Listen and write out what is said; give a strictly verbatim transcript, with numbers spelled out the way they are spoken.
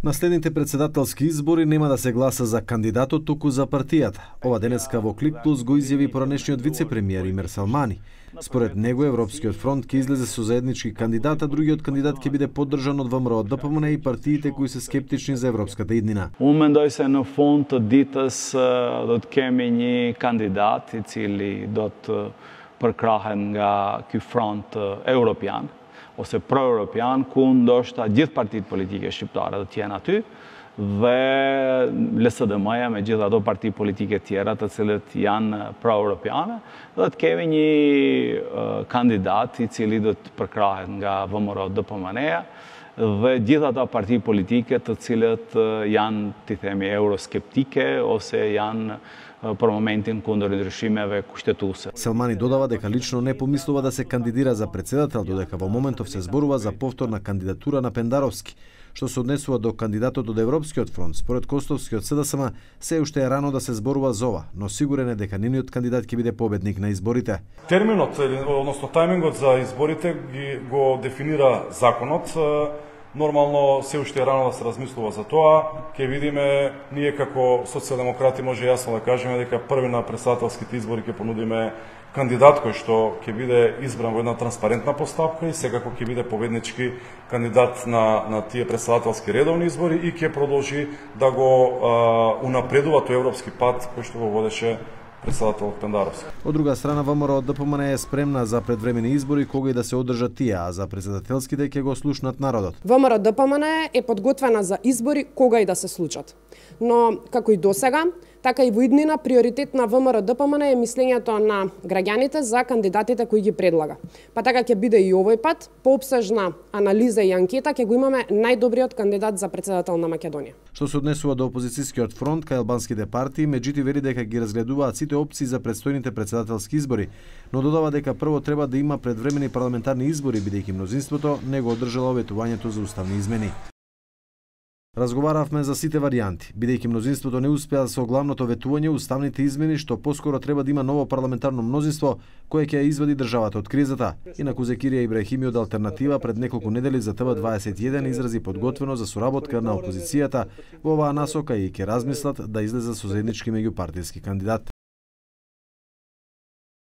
На следните председателски избори нема да се гласа за кандидатот, туку за партијата. Ова денеска во Клик Плюс го изјави поранешниот вице-премиер Имер Салмани. Според него Европскиот фронт ќе излезе со заеднички кандидат, а другиот кандидат ќе биде поддржан од ВМРО, ДПМН и партиите кои се скептични за европската иднина. Unë mendoj se në fund të ditës do të kemi një kandidat i cili do të përkrahen nga ky front europian ose pro-europian, ku ndoshta gjithë partitë politike shqiptare do të jenë aty dhe L S D M-ja me gjithë ato parti politike tjera të cilët janë pro-europiane, do të kemi një uh, kandidat i cili do të përkrahet nga VMRO D P M N-ja dhe gjithë ato parti politike të cilët uh, janë, ti themi, euroskeptike ose janë për momentin kundër ndryshimeve kushtetuese. Салмани додава дека лично не помислува да се кандидира за председател, додека во моментов се зборува за повторна кандидатура на Пендаровски. Што се однесува до кандидатот од Европскиот фронт, според Костовски од С Д С М, се уште е рано да се зборува за ова, но сигурен е дека нивниот кандидат ќе биде победник на изборите. Терминот, односно тајмингот за изборите ги го дефинира законот. Нормално се уште е рано да се размислува за тоа. Ќе видиме, ние како социјалдемократи може јасно да кажеме дека први на председателските избори ќе понудиме кандидат кој што ќе биде избран во една транспарентна постапка и секако ќе биде победнички кандидат на, на тие председателски редовни избори и ќе продолжи да го а, унапредува тој европски пат кој што го водеше председател Пендаровски. Од друга страна, ВМРО Д П М Н е спремна за предвремени избори кога и да се одржат тие, а за председателските ќе го слушнат народот. ВМРО Д П М Н е подготвена за избори кога и да се случат. Но како и досега, така и во иднина приоритет на ВМРО Д П М Н е мислењето на граѓаните за кандидатите кои ги предлага. Па така ќе биде и овој пат, по опсежна анализа и анкета ќе го имаме најдобриот кандидат за председател на Македонија. Што се однесува до опозицијскиот фронт кај албанските партии, Меджити вели дека ги разгледуваат сите опции за предстојните председателски избори, но додава дека прво треба да има предвремени парламентарни избори, бидејќи мнозинството не го одржало ветувањето за уставни измени. Разговаравме за сите варијанти, бидејќи мнозинството не успеа со главното ветување уставните измени, што поскоро треба да има ново парламентарно мнозинство кое ќе ја извади државата од кризата. Инаку Зекирија Ибрахими од Алтернатива пред неколку недели за Т В дваесет и еден изрази подготвено за соработка на опозицијата во оваа насока и ќе размислат да излезат со заеднички меѓупартиски кандидат.